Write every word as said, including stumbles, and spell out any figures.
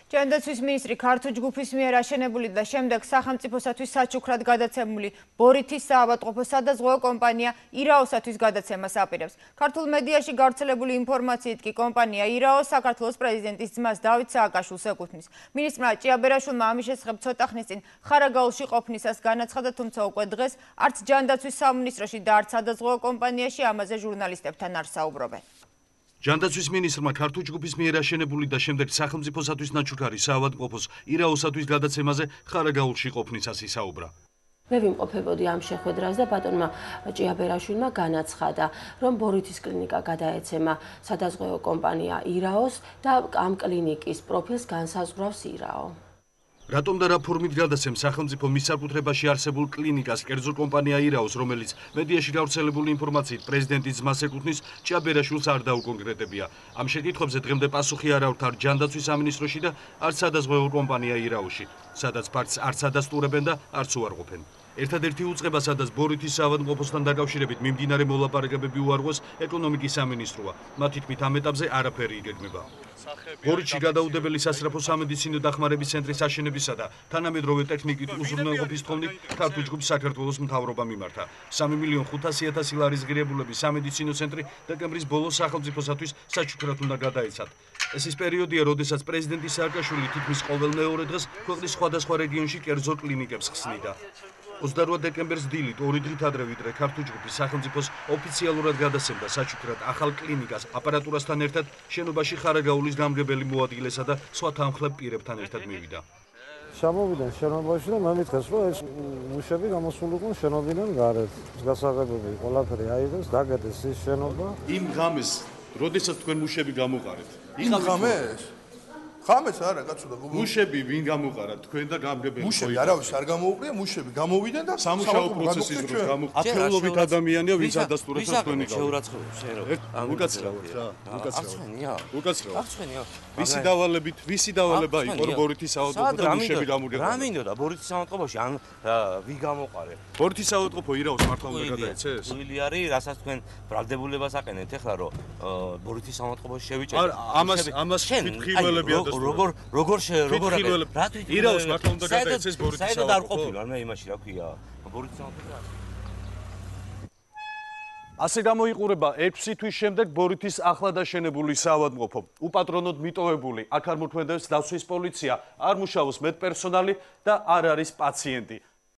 ჯანდაცვის მინისტრი ქართულ ჯგუფის მიერ აშენებული და შემდეგ სახელმწიფოსათვის საჩუქრად გადაცემული ბორითის საავადმყოფო სადაზღვევო კომპანია ირაოსათვის გადაცემას აპირებს. ქართულ მედიაში გავრცელებული ინფორმაციით კი კომპანია ირაო საქართველოს პრეზიდენტის ძმას დავით სააკაშვილს ეკუთვნის. მინისტრმა ჭიაბერაშვილმა ამის შესახებ ცოტა ხნის წინ ხარაგაულში ყოფნისას განაცხადა, თუმცა უკვე დღეს არც ჯანდაცვის სამინისტროში და არც სადაზღვევო კომპანიაში ამაზე ჟურნალისტებთან არ საუბრობენ. ჯანდაცვის მინისტრმა ქართულ ჯგუფის მიერ აშენებული და შემდეგ სახელმწიფოსათვის საჩუქარი საავადმყოფოს ირაოსათვის გადაცემაზე ხარაგაულში ყოფნისას ისაუბრა. მე ვიმყოფებოდი ამ შეხვედრას და ბატონმა ჭიაბერაშვილმა განაცხადა, რომ ბორითის კლინიკა გადაეცემა სადაზღვევო კომპანია ირაოს და ამ კლინიკის პროფილს განსაზღვრავს ირაო. რატომ და რა ფორმით გადაცემს სახელმწიფო მის საკუთრებაში არსებულ კლინიკას კერძო კომპანია ირაოს, რომელიც მედიაში გავრცელებული ინფორმაციით პრეზიდენტის ძმას ეკუთვნის, ჭიაბერაშვილს არ დაუკონკრეტებია. ამ შეკითხვებზე დღემდე პასუხი არ აქვთ არც ჯანდაცვის სამინისტროში და არც სადაზღვევო კომპანია ირაოში, სადაც ფაქტს არც ადასტურებენ და არც უარყოფენ. ერთადერთი უწყება, სადაც ბორითის საავადმყოფოსთან დაკავშირებით მიმდინარე მოლაპარაკებები უარღვეს, ეკონომიკის სამინისტროა. მათი თქმით, ამ ეტაპზე არაფერი იგეგმება. ბორითში გადაუდებელი სასწრაფო სამედიცინო დახმარების ცენტრის აშენებისა და თანამედროვე ტექნიკით უზრუნველყოფის თხოვნით ქართულ ჯგუფს საქართველოს მთავრობა მიმართა. სამი მილიონ ხუთასი ათასი ლარის ღირებულების სამედიცინო ცენტრი დეკემბრის ბოლოს სახელმწიფოსათვის საჩუქრად უნდა გადაეცათ. ეს ის პერიოდია, როდესაც პრეზიდენტი სააკაშვილი თითქმის ყოველ მეორე დღეს ქვეყნის სხვადასხვა რეგიონში კერძო კლინიკებს ხსნიდა. ოცდარვა დეკემბერს დილით ორი დღით ადრე ვიდრე ქართულ ჯგუფის სახელმწიფოს ოფიციალურად გადასცემდა საჩუქრად ახალ კლინიკას აპარატურასთან ერთად შენობაში ხარაგაულის გამგებელი მოადგილესა და სხვა თანმხლებ პირებთან ერთად მივიდა. Ჩამოვიდნენ შენობაში და მომიტყეს, რომ ეს მუშები გამოსულიყვნენ შენობიდან გარეთ. გასაღებები ყველაფერი აიღეს, დაგეთეს ის შენობა. იმ ღამეს, როდესაც თქვენ მუშები გამოყარეთ. იმ ღამეს? ღამეს არა, კაცო და გოგო. მუშები ვინ გამოყარათ თქვენ და გამგებელი? მუშები არავის არ გამოუყრია, მუშები გამოვიდნენ და სამუშაო პროცესის დროს გამო ათეულობით ადამიანია, ვინც ადასტურებს თქვენი გავლენა. შეურაცხყოფს შენ რო. უკაცრავად რა, უკაცრავად. აღწვენია. უკაცრავად. აღწვენია. ვისი დავალებით, ვისი დავალება იყო ბორითის საავადმყოფო და მუშები გამურგებოდა? რა მინდოდა ბორითის საავადმყოფოში ან ვი გამოყარე? ბორითის საავადმყოფო ირაოს მართლა უნდა გადაეცეს? უილი არის, რასაც თქვენ ბრალდებულებას აყენეთ ახლა რომ ბორითის საავადმყოფოში შევიჭერეთ. ამას ამას ფითხილველები ადასტურებს. როგორ როგორ როგორ რა თვით ირაოს მართლა უნდა გადაეცეს ბორითის საავადმყოფო? საერთოდ არ ყოფილა მე იმაში რა ქვია ბორითის საავადმყოფო. ასე გამოიყურება ექვსი თვის შემდეგ ბორითის ახლად აშენებული საავადმყოფო. უპატრონოდ მიტოვებული აქ არ მოქმედებს დაცვის პოლიცია, არ მუშაობს მედპერსონალი და არ არის პაციენტი.